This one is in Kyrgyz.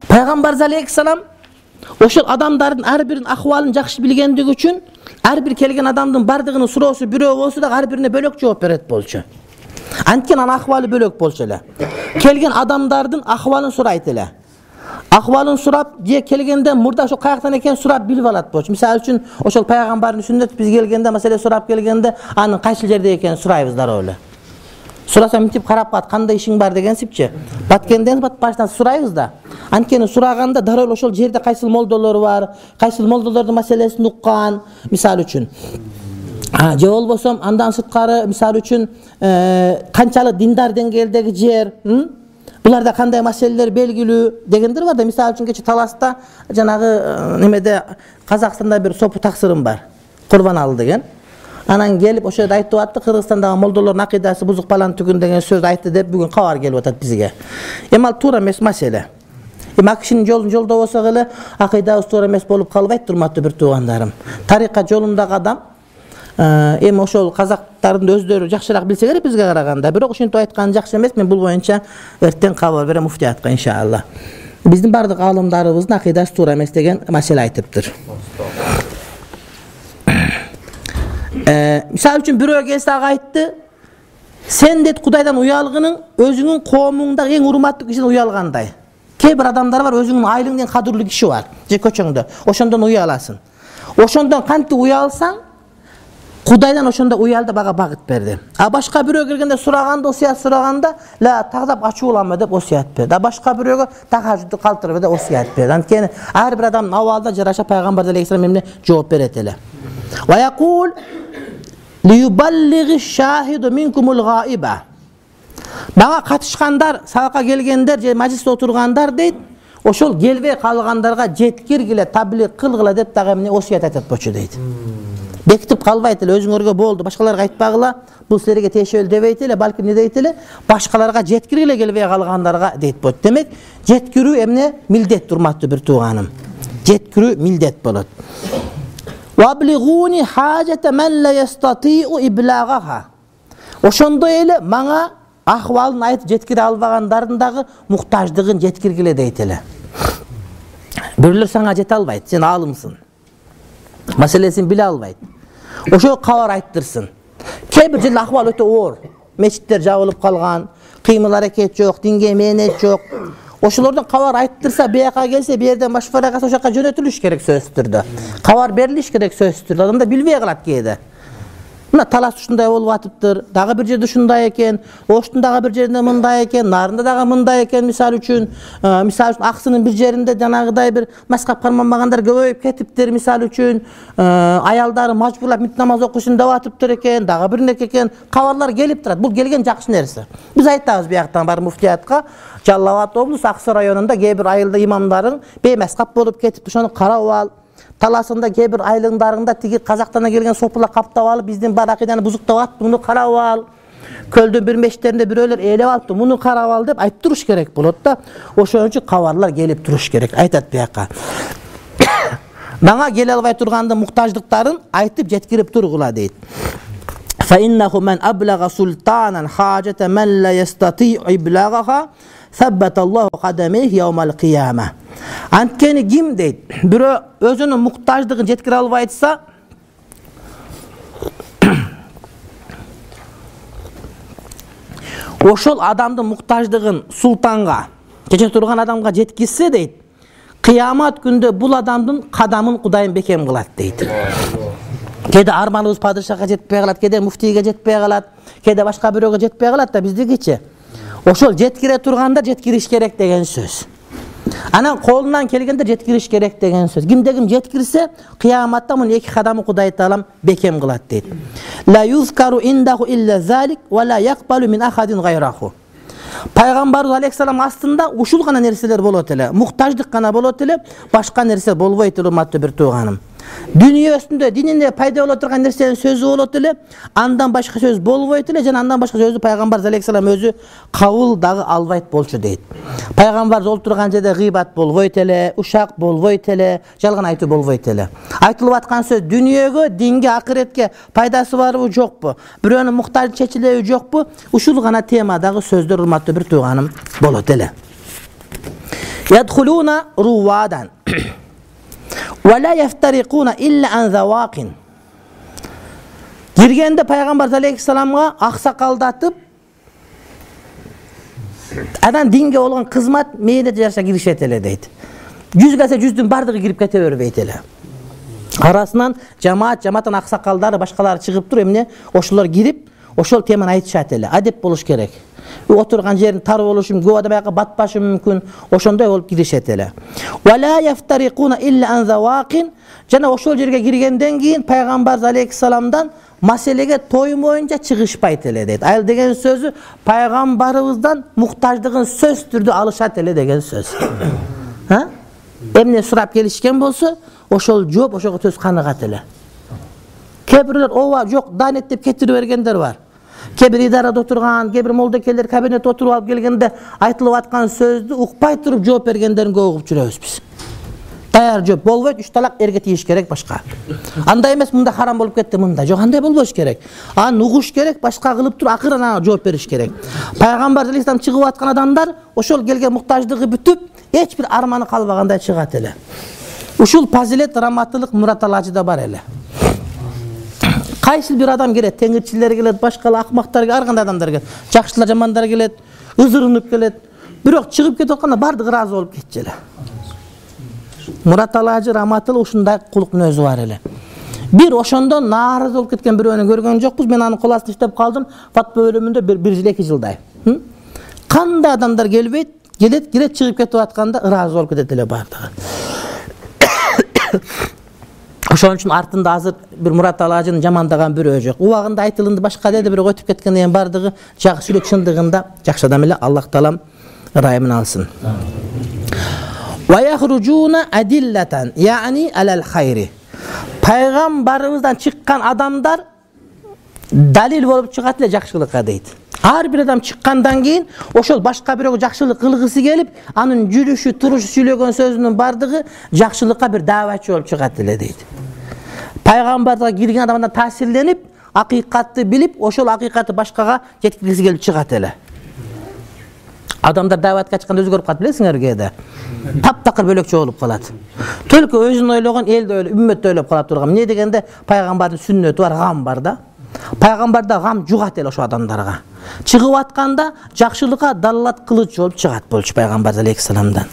Пайгамбар алейхиссалам ошол адамдардын ар биринин акыбалын жакшы билгендиги үчүн ар бир келген адамдын бардыгынын суроосу бирөө болсо да ар бирине бөлөк жооп берет болчу. Анткени анын акыбалы бөлөк болчу эле. Келген адамдардын акыбалын сурайт эле. Акыбалын сурап, же келгенде мурда ошо каяктан экен сурап билип алат болчу. Мисалы үчүн ошол пайгамбардын сүннөтү биз келгенде, маселе сурап келгенде, анын кайсы жерде экенин сурайбыз дароо эле. Сураса мынтип карап калат, кандай ишиң бар дегенсипчи. Баткенден баштан сурайбыз да. Анткени сураганда дароо ошол жерде кайсыл молдолор бар, кайсыл молдолордун маселесин уккан, мисалы үчүн. Же болбосо андан сырткары, мисалы үчүн, канчалык диндар деңгээлдеги жер, буларда кандай маселелер белгилүү дегендер бар да. Мисалы үчүн кече Таласта жанагы немеде Казакстанда бир сопу таксырым бар. Курбаналы деген. Анан келип ошо жерде айтып атты, Кыргызстандагы молдолордун акыйдасы бузук балан түгүн деген сөз айтты деп бүгүн кабар келип атат бизге. Эми ал туура эмес маселе. Эми кишинин жолун жолдобосок эле акыйдабыз туура эмес болуп калбайт, урматтуу бир туугандарым. Тарикат жолундагы адам эми ошол казактардын өздөрү жакшыраак билсе керек бизге караганда. Бирок ушинтип айткан жакшы эмес. Мен бул боюнча эртең кабар берем муфтиятка иншалла. Биздин бардык аалымдарыбыздын акыйдасы туура эмес деген маселе айтыптыр. Мисалы үчүн бирөө келсе ага айтты, сен дейт Кудайдан уялгының өзүңүн коомуңдагы эң урматтуу кишиден уялгандай. Кээ бир адамдар бар, өзүңүн айылыңдын кадырлуу киши бар, же көчөңдө, ошондон уяласың. Ошондон кантип уялсаң, Кудайдан ошондо уял деп ага багыт берди. А башка бирөө келгенде сураганда, осуят сураганда, ла тагдап ачууланма деп осуят берди. А башка бирөөгө тахажжудду калтырбы деп осуят берди. Анткени ар бир адамдын абалына жараша пайгамбар алейхиссалам эмне жооп берет эле. Ва якул лиюбаллиги шахиду минкумул гаиба. Мага катышкандар, сабакка келгендер же мажлисте отургандар дейт, ошол келбей калгандарга жеткиргиле, таблиг кылгыла деп дагы эмне осуят айтат болчу дейт. Бекитип калбайт эле, өзүңөргө болду, башкаларга айтпагыла, бул силерге тиешелүү дебейт эле, балки эмне дейт эле, башкаларга жеткиргиле келбей калгандарга дейт болот. Демек, жеткирүү эмне милдет, урматтуу бир тууганым. Жеткирүү милдет болот. Ваблигуни хажата ман ла ястатиу иблагаха. Ошондой эле мага акыбалын айтып жеткире албагандардын дагы муктаждыгын жеткиргиле дейт эле. Бирлер сага жете албайт, сен аалымсың. Маселесин биле албайт. Ошо кабар айттырсын. Кээ бир жерде акыбал өтө оор. Мечиттер жабылып калган, кыймыл аракет жок, динге мээнет жок. Ошолордон кабар айттырса, бияка келсе, бу жерден машфара кылса, ошо жака жөнөтүлүш керек сөзсүз түрдө. Кабар берилиш керек сөзсүз түрдө. Адамдар билбей калат кээде. Мына Талас ушундай болуп атыптыр, дагы бир жерде ушундай экен, Оштун дагы бир жеринде мындай экен, Нарында дагы мындай экен, мисалы үчүн Аксынын бир жеринде жанагыдай бир маскап карманбагандар көбөйүп кетиптир, мисалы үчүн аялдары мажбурлап мит намаз окушун деп атыптыр экен, дагы бир неке экен, кабарлар келип турат. Бул келген жакшы нерсе. Биз айтабыз бияктан бар муфтиятка, Жалал Абад облусу Аксы районунда кээ бир айылда имамдарың беймаскап болуп кетип, ошону карап ал. Таласында кээ бир айылыңдарында тиги Казактан келген сопулар каптап алып, биздин бар акыйданы бузуктап атты, муну карап ал. Көлдүн бир мешиттеринде бирөөлөр ээлеп алыптыр, муну карап ал деп айтып туруш керек болот да. Ошон үчүн кабарлар келип туруш керек. Айтат бияка. Мага келе албай тургандын муктаждыктарын айтып жеткирип тургула дейт. Fa innahu man ablaga sultanan hajata man la yastati'u iblaghaha thabbata Allahu qadamayhi yawmal qiyamah. Анткени ким дейт, бирөө өзүнүн муктаждыгын жеткире албайса, ошол адамдын муктаждыгын султанга, чече турган адамга жеткизсе дейт, кыямат күндө бул адамдын кадамын Кудайым бекем кылат дейт. Кээде арманыбыз падышага жетпей калат, кээде муфтийге жетпей калат, кээде башка бирөөгө жетпей калат да биздикичи. Ошол жеткире турганда жеткириш керек деген сөз. Анан колунан келгенде жеткириш керек деген сөз. Кимде ким жеткирсе, кыяматта мунун эки кадамы Кудай Таалам бекем кылат дейт. Ла юзкару индаху илля залик ва ла якбалу мин ахадин гайраху. Пайгамбарыбыз алейхиссалам астында ушул гана нерселер болот эле, муктаждык гана болот эле, башка нерсе болбойт, урматтуу бир тууганым. Дүнүйөсүндө дининде пайда боло турган нерсенин сөзү болот эле, андан башка сөз болбойт эле, жана андан башка сөздү пайгамбар алейхиссалам өзү кабыл дагы албайт болчу дейт. Пайгамбар олтурган жерде гыйбат болбойт эле, ушак болбойт эле, жалган айтуу болбойт эле. Айтылып аткан сөз дүнүйөгө, динге, акыретке пайдасы барбы, жокпу? Бирөөнүн муктажы чечилеби, жокпу? Ушул гана темадагы сөздөр, урматтуу бир тууганым, болот эле. Yadkhuluna ruwadan wa la yaftariquna illa an zawaqin. Girgende Пайгамбар алейхиссаламга аксакалдатып, адан динге болгон кызмат мээдет жаша киришет эле дейт. 100 келсе 100дүн бардыгы кирип кете бербейт эле. Арасынан жамааттын аксакалдары, башкалары чыгып туруп, эмне ошолор кирип, ошол теманы айтышат эле. Адеп болуш керек. Отурган жерин тар болушу мүмкүн, көп адам аяка батпашы мүмкүн, ошондой болуп киришет эле. Вала яфтарикуна илля ан завaqin. Жана ошол жерге киргенден кийин Пайгамбар алейхиссаламдан маселеге тоймоюнча чыгышпайт эле дейт. Айыл деген сөзү пайгамбарыбыздан муктаждыгын сөз түрдө алышат эле деген сөз. Эмне сурап келишкен болсо, ошол жооп, ошого төз каныгат эле. Кээ бирлер ооба жок, данет деп кетирип бергендер бар. Кээ бир идарада отурган, кээ бир молдокелер кабинетте отуруп алып келгенде айтылып аткан сөздү укпай туруп жооп бергендерин көп угуп жүрөбүз биз. Даяр жооп болбойт, 3 талак эрге тийиш керек башка. Андай эмес, мында харам болуп кетти, мында. Жок, андай болбош керек. Аны угуш керек, башка кылып туруп акырын ана жооп бериш керек. Пайгамбар алейхиссалам чыгып аткан адамдар ошол келген муктаждыгы бүтүп, эч бир арманы калбагандай чыгат эле. Ушул фазилет, раматтылык Мураталажыда бар эле. Кайсы бир адам келет, теңирчилер келет, башкалар акмактар, ар кандай адамдар келет. Жакшылар, жамандар келет, ызырынып келет. Бирок чыгып кетип атканда бардыгы ыраазы болуп кетчү эле. Мураталажы, раматтыл ушундай кулук мүнөзү бар эле. Бир ошондон нааразы болуп кеткен бирөөнү көргөн жокпуз. Мен анын кол астында иштеп калдым. Фатва бөлүмүндө 1 жыл 2 жылдай. Кандай адамдар келбейт, келет чыгып кетип атканда ыраазы болуп кетет эле бардыгы. Ошон үчүн артында азыр бир Мураталажыны жамандаган бирөө жок. Убагында айтылынды башка деди, бирок өтүп кеткенден кийин бардыгы жакшы сүйлөп, чындыгында жакшы адам эле. Аллах таалам ырайымын алсын. Ва яхружуна адиллатан, яни алал хайри. Пайгамбарыбыздан чыккан адамдар далил болуп чыгат эле жакшылыкка дейт. Ар бир адам чыккандан кийин ошол башка бирөөгө жакшылык кылгысы келип, анын жүрүшү, турушу, сүйлөгөн сөзүнүн бардыгы жакшылыкка бир дааватчы болуп чыгат эле дейт. Пайгамбарга кирген адамдан таасирленип, акыйкатты билип, ошол акыйкатты башкага жеткиргиси келип чыгат эле. Адамдар дааватка чыкканда өзгөрүп калат, билесиңерби да? Таптакыр бөлөкчө болуп калат. Төлкө өзүн ойлогон, элди ойлоп, үммөттү ойлоп калат турган. Эмне дегенде пайгамбардын сүннөтү бар, гам бар да. Пайгамбарда гам жугат эле ошо адамдарга. Чыгып атканда жакшылыкка далалат кылыч болуп чыгат болчу Пайгамбар алейхиссаламдан.